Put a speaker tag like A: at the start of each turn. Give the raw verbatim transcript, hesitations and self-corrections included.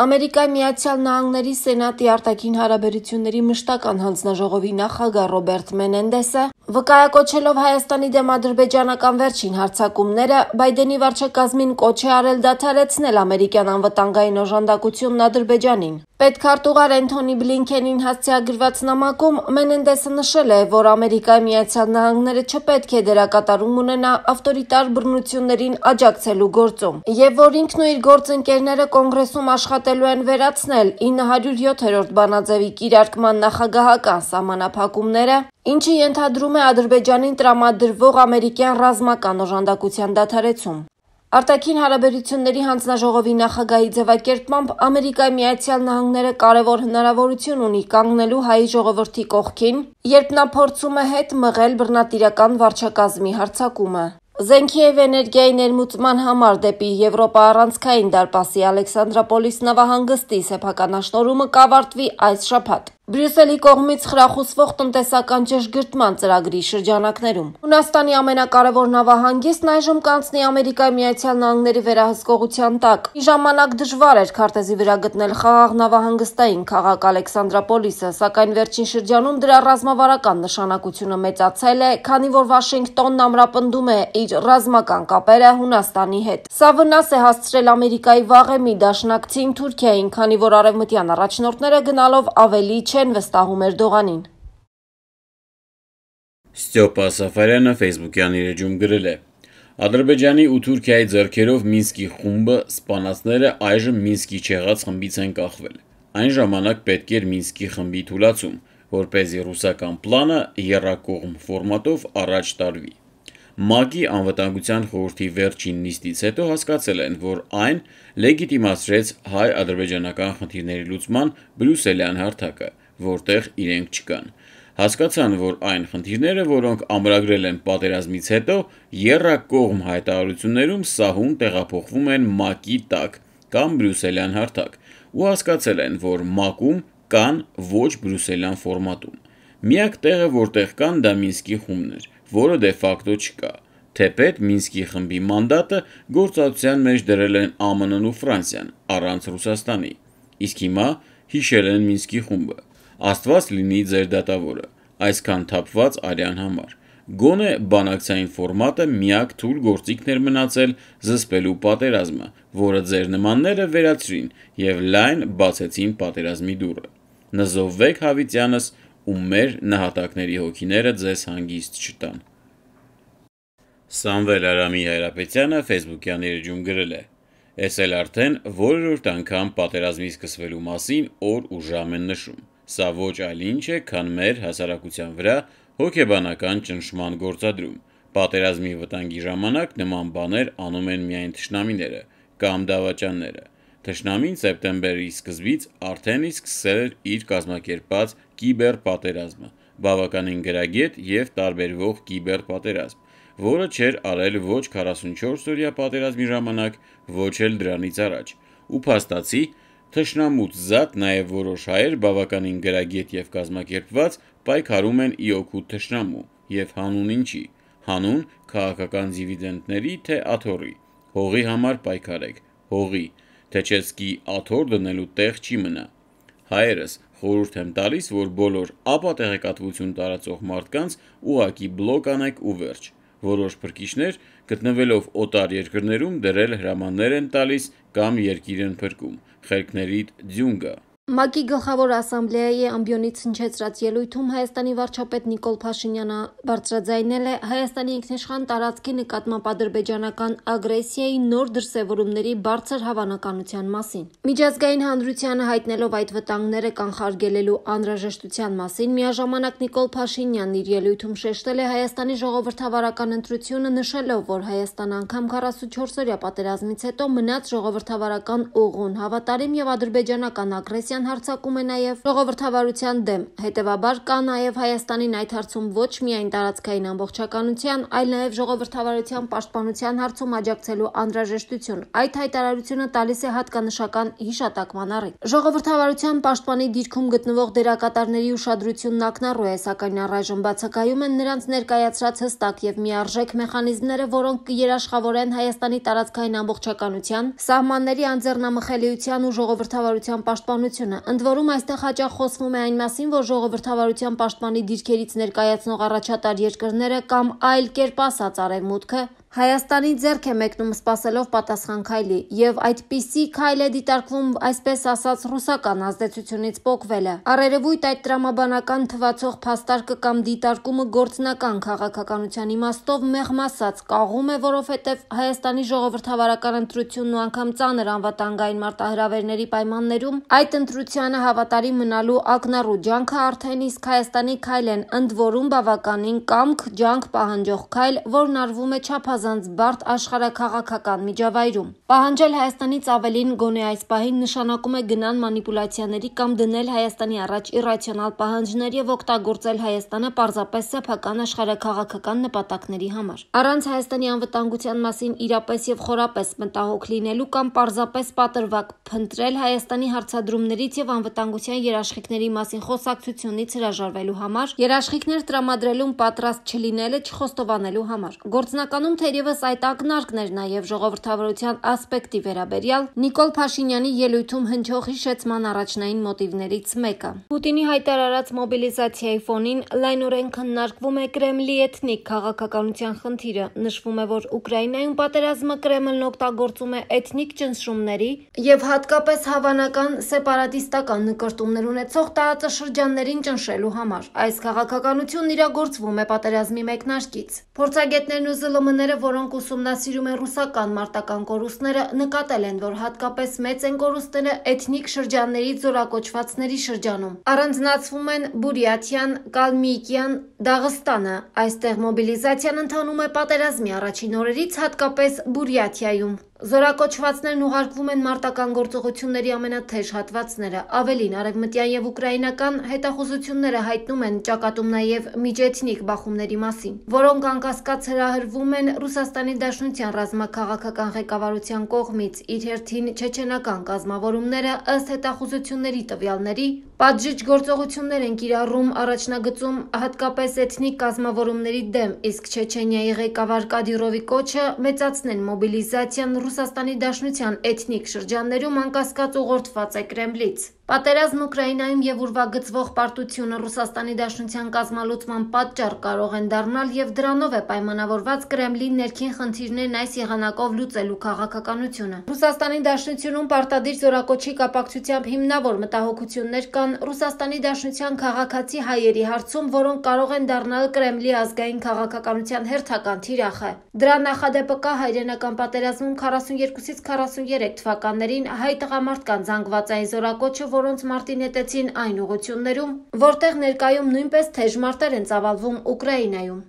A: Ամերիկայի Միացյալ Նահանգների Սենատի արտաքին հարաբերությունների մշտական հանձնաժողովի նախագահ Ռոբերտ Մենենդեսը, վկայակոչելով Հայաստանի դեմ ադրբեջանական վերջին հարձակումները, Բայդենի վարչակազմին կոչ է արել դադարեցնել ամերիկյան անվտանգային օժանդակությունն Ադրբեջանին։ Պետքարտուղար Էնթոնի Բլինքենին հասցեագրված նամակում Մենենդեսը նշել է, որ Ամերիկայի Միացյալ Նահանգները չպետք է դերակատարում ունենա ավտորիտար բռնություններին աջակցելու գործում, եւ որ ինքն ու իր գործընկերները կոնգրեսում աշխատելու են վերացնել ինը հարյուր յոթերորդ բանաձևի կիրարկման նախագահական սահմանափակումները, ինչը ենթադրում է Ադրբեջանին տրամադրվող ամերիկյան ռազմական օժանդակության դադարեցում։ Արտաքին հարաբերությունների հանձնաժողովի նախագահի ձևակերպմամբ Ամերիկայի Միացյալ Նահանգները կարևոր հնարավորություն ունի կանգնելու հայ ժողովրդի կողքին, երբ նա փորձում է հետ մղել բռնատիրական վարչակազմի հարձակումը։ Զենքի և էներգիայի ներմուծման համար դեպի Եվրոպա առանցքային դարպասի Ալեքսանդրապոլիս նավահանգստի սեփականաշնորհումը կավարտվի այս շաբաթ Բրյուսելի կողմից խրախուսվող տնտեսական ճշգրտման ծրագրի շրջանակներում։ Հունաստանի ամենակարևոր նավահանգիստն այժմ կանցնի Ամերիկայի Միացյալ Նահանգների վերահսկողության տակ։ Մի ժամանակ դժվար էր քարտեզի վրա գտնել խաղաղ նավահանգստային քաղաք Ալեքսանդրապոլիսը, սակայն վերջին շրջանում դրա ռազմավարական նշանակությունը մեծացել է, քանի որ Վաշինգտոնն ամրապնդում է իր ռազմական կապերը Հունաստանի հետ։ Սա վնաս է հասցրել Ամերիկայի վաղեմի դաշնակցին Թուրքիային, քանի որ արևմտյան առաջնորդները գնալով ավելի չեն վստահում Էրդողանին։
B: Ստյոպա Սաֆարյանը ֆեյսբուքյան իր էջում գրել է. Ադրբեջանի ու Թուրքիայի ձեռքերով Մինսկի խումբը սպանածները այժմ Մինսկի չեղած խմբից են կախվել։ Այն ժամանակ պետք էր Մինսկի խմբի թուլացում, որպեսզի ռուսական պլանը եռակողմ ֆորմատով առաջ տարվի։ ՄԱԿ-ի անվտանգության խորհրդի վերջին նիստից հետո հասկացել են, որ այն լեգիտիմացրեց հայ-ադրբեջանական խնդիրների լուծման բրյուսելյան հարթակը, որտեղ իրենք չկան։ Հասկացան, որ այն խնդիրները, որոնք ամրագրել են պատերազմից հետո, եռակողմ հայտարարություններում սահուն տեղափոխվում են ՄԱԿ-ի տակ կամ բրյուսելյան հարթակ, ու հասկացել են, որ ՄԱԿ-ում կան ոչ բրյուսելյան ֆորմատում։ Միակ տեղը, որտեղ կան, դա Մինսկի խումբն էր, որը դե ֆակտո չկա, թեպետ Մինսկի խմբի մանդատը գործածության մեջ դրել են Α M N-ն ու Ֆրանսիան, առանց Ռուսաստանի։ Իսկ հիմա հիշել են Մինսկի խումբը։ Աստված լինի ձեր դատավորը, այսքան թափված արյան համար։ Գոնե բանակցային ֆորմատը միակ թույլ գործիքն էր մնացել զսպելու պատերազմը, որը ձեր նմանները վերացրին և լայն բացեցին պատերազմի դուռը։ Նզովվեք հավիտյանս ու մեր նահատակների հոգիները ձեզ հանգիստ չտան։ Սամվել Արամի Հայրապետյանը ֆեյսբուքյան իր էջում գրել է. Ես էլ արդեն որերորդ անգամ պատերազմի սկսվելու մասին օր ու ժամ են նշում։ Սա ոչ այլ ինչ է, քան մեր հասարակության վրա հոգեբանական ճնշման գործադրում։ Պատերազմի վտանգի ժամանակ նման բաներ անում են միայն թշնամիները կամ դավաճանները։ Թշնամին սեպտեմբերի սկզբից արդեն իսկ սկսել էր իր կազմակերպած կիբերպատերազմը, բավականին գրագետ և տարբերվող կիբերպատերազմ, որը չէր արել ոչ քառասունչորս օրյա պատերազմի ժամանակ, ոչ էլ դրանից առաջ, ու փաստացի, թշնամուց զատ նաև որոշ հայեր բավականին գրագետ և կազմակերպված պայքարում են ի օգուտ թշնամու, և հանուն ինչի, հանուն քաղաքական դիվիդենդների, թե աթոռի, հողի համար պայքարեք, հողի, թե չեսկի աթոռ դնելու տեղ չի մնա։ Հայերս խորհուրդ եմ տալիս, որ բոլոր ապատեղեկատվություն տարածող մարդկանց ուղղակի բլոկ անեք ու վերջ։ Որոշ փրկիչներ գտնվելով օտար երկրներում դրել հրամաններ են տալիս կամ երկիր են փրկում, խելքներիդ ձյուն գա։
A: ՄԱԿ-ի գլխավոր ասամբլեայի ամբիոնից հնչեցրած ելույթում Հայաստանի վարչապետ Նիկոլ Փաշինյանը բարձրաձայնել է Հայաստանի ինքնիշխան տարածքի նկատմամբ ադրբեջանական ագրեսիայի նոր դրսևորումների բարձր հավանականության մասին։ Միջազգային հանրությանը հայտնելով այդ վտանգները կանխարգելելու անհրաժեշտության մասին, միաժամանակ Նիկոլ Փաշինյանն իր ելույթում շեշտել է Հայաստանի ժողովրդավարական ընտրությունը, նշելով, որ Հայաստանը անգամ քառասունչորս օրյա պատերազմից հետո մնաց ժողովրդավարական ուղուն, հավատարիմ և ադրբեջանական ագրեսիա ժողովրդավարության հարձակում է նաև ժողովրդավարության դեմ, հետևաբար կա նաև Հայաստանին այդ հարցում ոչ միայն տարածքային ամբողջականության, այլ նաև ժողովրդավարության պաշտպանության հարցում աջակցելու անհրաժեշտություն։ Այդ հայտարարությունը տալիս է հատկանշական հիշատակման առիթ։ Ժողովրդավարության պաշտպանի դիրքում գտնվող դերակատարների ուշադրությունն ակնառու է, սակայն առայժմ բացակայում են նրանց ներկայացրած հստակ եւ միարժեք մեխանիզմները, որոնք կերաշխավորեն Հայաստանի տարածքային ամբողջականության, սահմանների անձեռնամխելիության ու ժողովրդավարության պաշտպանությունը։ Ընդ որում, այստեղ հաճախ խոսվում է այն մասին, որ ժողովրդավարության պաշտպանի դիրքերից ներկայացնող առաջատար երկրները կամ այլ կերպ ասած Արևմուտքը Հայաստանի ձեռք է մեկնում սպասելով պատասխան քայլի, եւ այդպիսի քայլ է դիտարկվում այսպես ասած ռուսական ազդեցությունից պոկվելը։ Առերևույթ այդ տրամաբանական թվացող փաստարկը կամ դիտարկումը գործնական քաղաքականության իմաստով մեղմ ասած կաղում է, որովհետեւ Հայաստանի ժողովրդավարական ընտրությունն ու անգամ ծանր անվտանգային մարտահրավերների պայմաններում այդ ընտրությանը հավատարիմ մնալու ակնառու ջանքը արդեն իսկ Հայաստանի քայլ են, ընդ որում բավականին կամք ջանք պահանջող քայլ, որն արվում է չափազանց բարդ աշխարհաքաղաքական միջավայրում։ Պահանջել Հայաստանից ավելին գոնե այս պահին նշանակում է գնան մանիպուլյացիաների կամ դնել Հայաստանի առաջ իռացիոնալ պահանջներ եւ օգտագործել Հայաստանը պարզապես սեփական աշխարհաքաղաքական նպատակների համար։ Առանց Հայաստանի անվտանգության մասին իրապես եւ խորապես մտահոգ լինելու կամ պարզապես պատրվակ փնտրել Հայաստանի հարցադրումներից եւ անվտանգության երաշխիքների մասին խոսակցությունից հրաժարվելու համար, երաշխիքներ տրամադրելուն պատրաստ չլինելը չխոստովանելու համար։ Գործնականում թերևս այդ ակնարկն էր նաեւ ժողովրդավարության ասպեկտի վերաբերյալ Նիկոլ Փաշինյանի ելույթում հնչող հիշեցման առաջնային մոտիվներից մեկը։ Պուտինի հայտարարած մոբիլիզացիայի ֆոնին լայնորեն քննարկվում է Կրեմլի էթնիկ քաղաքականության խնդիրը։ Նշվում է, որ Ուկրաինայում պատերազմը Կրեմլն օգտագործում է էթնիկ ճնշումների եւ հատկապես հավանական սեպարատիստական նկրտումներ ունեցող տարածաշրջաններին ճնշելու համար։ Այս քաղաքականությունն իրագործվում է պատերազմի մեկնարկից։ Փորձագետներն ու զլ եմ-ները, որոնք ուսումնասիրում են ռուսական մարտական կորուստները, նկատել են, որ հատկապես մեծ են կորուստները էթնիկ շրջանների զորակոչվածների շրջանում։ Առանձնացվում են Բուրյաթիան, Կալմիկիան, Դաղստանը։ Այստեղ մոբիլիզացիան ընթանում է պատերազմի առաջին օրերից, հատկապես Բուրյաթիայում։ Զորակոչվածներն ուղարկվում են մարտական գործողությունների ամենաթեժ հատվածները։ Ավելին, արևմտյան եւ ուկրաինական հետախուզությունները հայտնում են ճակատում նաեւ միջէթնիկ բախումների մասին, որոնք անկասկած հրահրվում են Ռուսաստանի Դաշնության ռազմաքաղաքական ղեկավարության կողմից։ Իր հերթին չեչենական կազմավորումները ըստ հետախուզությունների տվյալների պատժիչ գործողություններ են կիրառում առաջնագծում հատկապես էթնիկ կազմավորումների դեմ, իսկ Չեչենիայի ղեկավար Կադիրովի կոչը մեծացնել մոբիլիզացիան Ռուսաստանի Դաշնության էթնիկ շրջաններում անկասկած ուղղորդված է Կրեմլից։ Պատերազմն Ուկրաինայում եւ ուրվագծվող պարտությունը Ռուսաստանի Դաշնության կազմալուծման պատճառ կարող են դառնալ եւ դրանով է պայմանավորված Կրեմլի ներքին խնդիրներն այս եղանակով լուծելու քաղաքականությունը։ Ռուսաստանի Դաշնությունում պարտադիր զորակոչի կապակցությամբ հիմնավոր մտահոգություններ կան Ռուսաստանի Դաշնության քաղաքացի հայերի հարցում, որոնք կարող են դառնալ Կրեմլի ազգային քաղաքականության հերթական թիրախը։ Դրա նախադեպը կա հայրենական պատերազմում քառասունյոթից քառասուներեք թվականներին հայ տղամարդկանց զանգվածային զորակոչը, որոնց մարտի նետեցին այն ուղղություններում, որտեղ ներկայում նույնպես թեժ մարտեր են ծավալվում Ուկրաինայում։